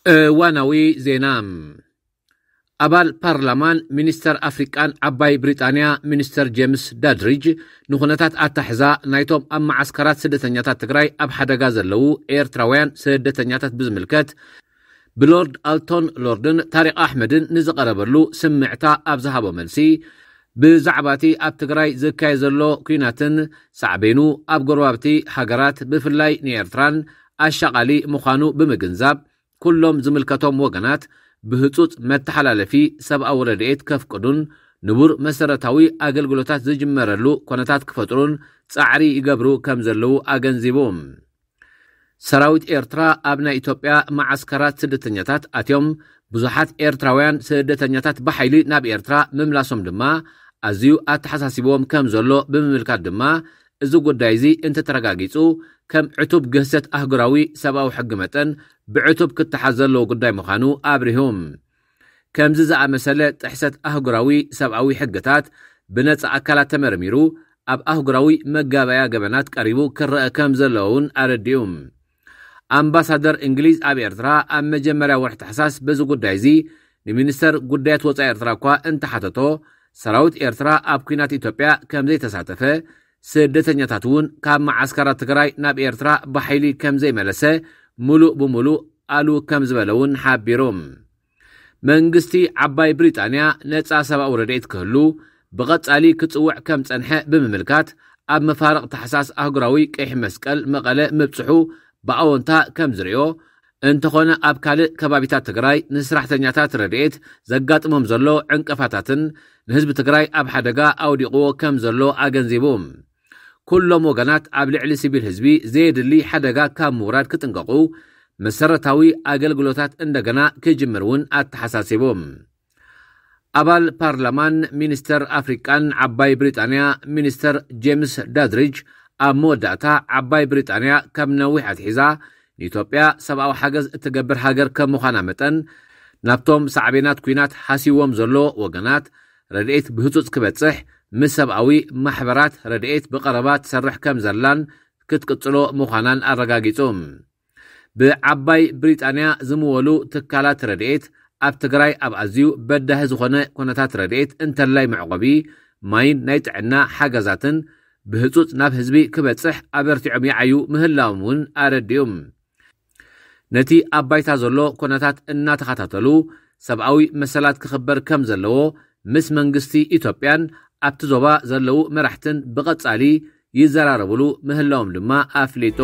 እዋናዊ ዜና። ኣባል ፓርላማን ሚኒስተር ኣፍሪቃን ዓባይ ብሪጣንያ ሚኒስተር ጄምስ ዳድሪጅ ንኹነታት ኣታሕዛ ናይቶም ኣብ መዓስከራት ስደተኛታት ትግራይ ኣብ ሓደጋ ዘለዉ ኤርትራውያን ስደተኛታት ብዝምልከት ብሎርድ ኣልቶን ሎርድን ታሪቅ ኣሕመድን ንዝቐረበሉ ስምዕታ ኣብ ዝሃቦ መልሲ፣ ብዛዕባ እቲ ኣብ ትግራይ ዝካየድ ዘሎ ኲናትን ሳዕቤኑ ኣብ ጎረባብቲ ሃገራት ብፍላይ ንኤርትራን ኣሻቓሊ ምዃኑ ብምግንዛብ፣ ኩሎም ዝምልከቶም ወገናት ብህጹጽ መተሓላለፊ ሰብኣዊ ረድኤት ከፍቅዱን ንቡር መሰረታዊ ኣገልግሎታት ዝጅመረሉ ኮነታት ክፈጥሩን ጻዕሪ ይገብሩ ከም ዘለዉ ኣገንዚቡ። ሰራዊት ኤርትራ ኣብ ናይ ኢትዮጵያ መዓስከራት ስደተኛታት ኣትዮም ብዙሓት ኤርትራውያን ስደተኛታት ብሓይሊ ናብ ኤርትራ ምምላሶም ድማ ኣዝዩ ኣተሓሳሲብዎም ከም ዘሎ ብምምልካት ድማ፣ እዚ ጉዳይ እዚ እንተተረጋጊጹ ከም ዕቱብ ግህሰት ኣህጉራዊ ሰብኣዊ ሕጊ መጠን ብዕቱብ ክተሓዝ ዘለዎ ጉዳይ ምዃኑ ኣብሪሁ። ከምዚ ዝኣመሰለ ጥሕሰት ኣህጉራዊ ሰብኣዊ ሕግታት ብነጻ ኣካላት ተመርሚሩ ኣብ ኣህጉራዊ መጋበያ ገበናት ቀሪቡ ክረአ ከም ዘለዎ እውን ኣረዲኡ። ኣምባሳደር እንግሊዝ ኣብ ኤርትራ ኣብ መጀመርያ ወርሒ ታሕሳስ በዚ ጉዳይ እዚ ንሚኒስተር ጉዳያት ወጻኢ ኤርትራ እኳ እንተሓተቶ፣ ሰራዊት ኤርትራ ኣብ ኲናት ኢትዮጵያ ከም ዘይተሳተፈ፣ ስደተኛታት እውን ካብ መዓስከራት ትግራይ ናብ ኤርትራ ብሓይሊ ከም ዘይመለሰ፣ ምሉእ ብምሉእ ኣሉ ከም ዝበለ እውን ሓቢሩ። መንግስቲ ዓባይ ብሪጣንያ ነጻ ሰብኣዊ ረድኤት ክህሉ ብቐጻሊ ክጽውዕ ከም ጸንሐ ብምምልካት፣ ኣብ መፋርቕ ታሕሳስ ኣህጉራዊ ቀይሕ መስቀል መቐለ ምብጽሑ ብኣወንታ ከም ዝርእዮ፣ እንተኾነ ኣብ ካልእ ከባቢታት ትግራይ ንስራሕተኛታት ረድኤት ዘጋጥሞም ዘሎ ዕንቅፋታትን ንህዝቢ ትግራይ ኣብ ሓደጋ ኣውዲቕዎ ከም ዘሎ ኣገንዚቡ። ኩሎም ወገናት ኣብ ልዕሊ ሲቪል ህዝቢ ዘየድሊ ሓደጋ ካብ ምውራድ ክጥንቀቑ፣ መሰረታዊ ኣገልግሎታት እንደገና ክጅምር እውን ኣተሓሳሲቡ። ኣባል ፓርላማን ሚኒስተር ኣፍሪቃን ዓባይ ብሪጣንያ ሚኒስተር ጄምስ ዳድሪጅ ኣብ መወዳእታ፣ ዓባይ ብሪጣንያ ካብ ነዊሕ ኣትሒዛ ንኢትዮጵያ ሰብኣዊ ሓገዝ እትገብር ሃገር ከም ምዃና መጠን፣ ናብቶም ሳዕቤናት ኲናት ሃስይዎም ዘሎ ወገናት ረድኤት ብህጹጽ ክበጽሕ፣ ምስ ሰብኣዊ ማሕበራት ረድኤት ብቐረባ ትሰርሕ ከም ዘላን ክትቅጽሎ ምዃናን ኣረጋጊጹ። ብዓባይ ብሪጣንያ ዝምወሉ ትካላት ረድኤት ኣብ ትግራይ ኣብ ኣዝዩ በዳሂ ዝኾነ ኩነታት ረድኤት እንተላይ መዕቆቢ ማይን ናይ ጥዕና ሓገዛትን ብህጹጽ ናብ ህዝቢ ክበጽሕ ኣበርቲዖም ይዓዩ ምህላዎም እውን ኣረዲኡ። ነቲ ኣብ ባይታ ዘሎ ኩነታት እናተኸታተሉ ሰብኣዊ መሰላት ክኽበር ከም ዘለዎ ምስ መንግስቲ ኢትዮጵያን ኣብቲ ዞባ ዘለዉ መራሕትን ብቐጻሊ ይዘራረብሉ ምህላዎም ድማ ኣፍሊጡ።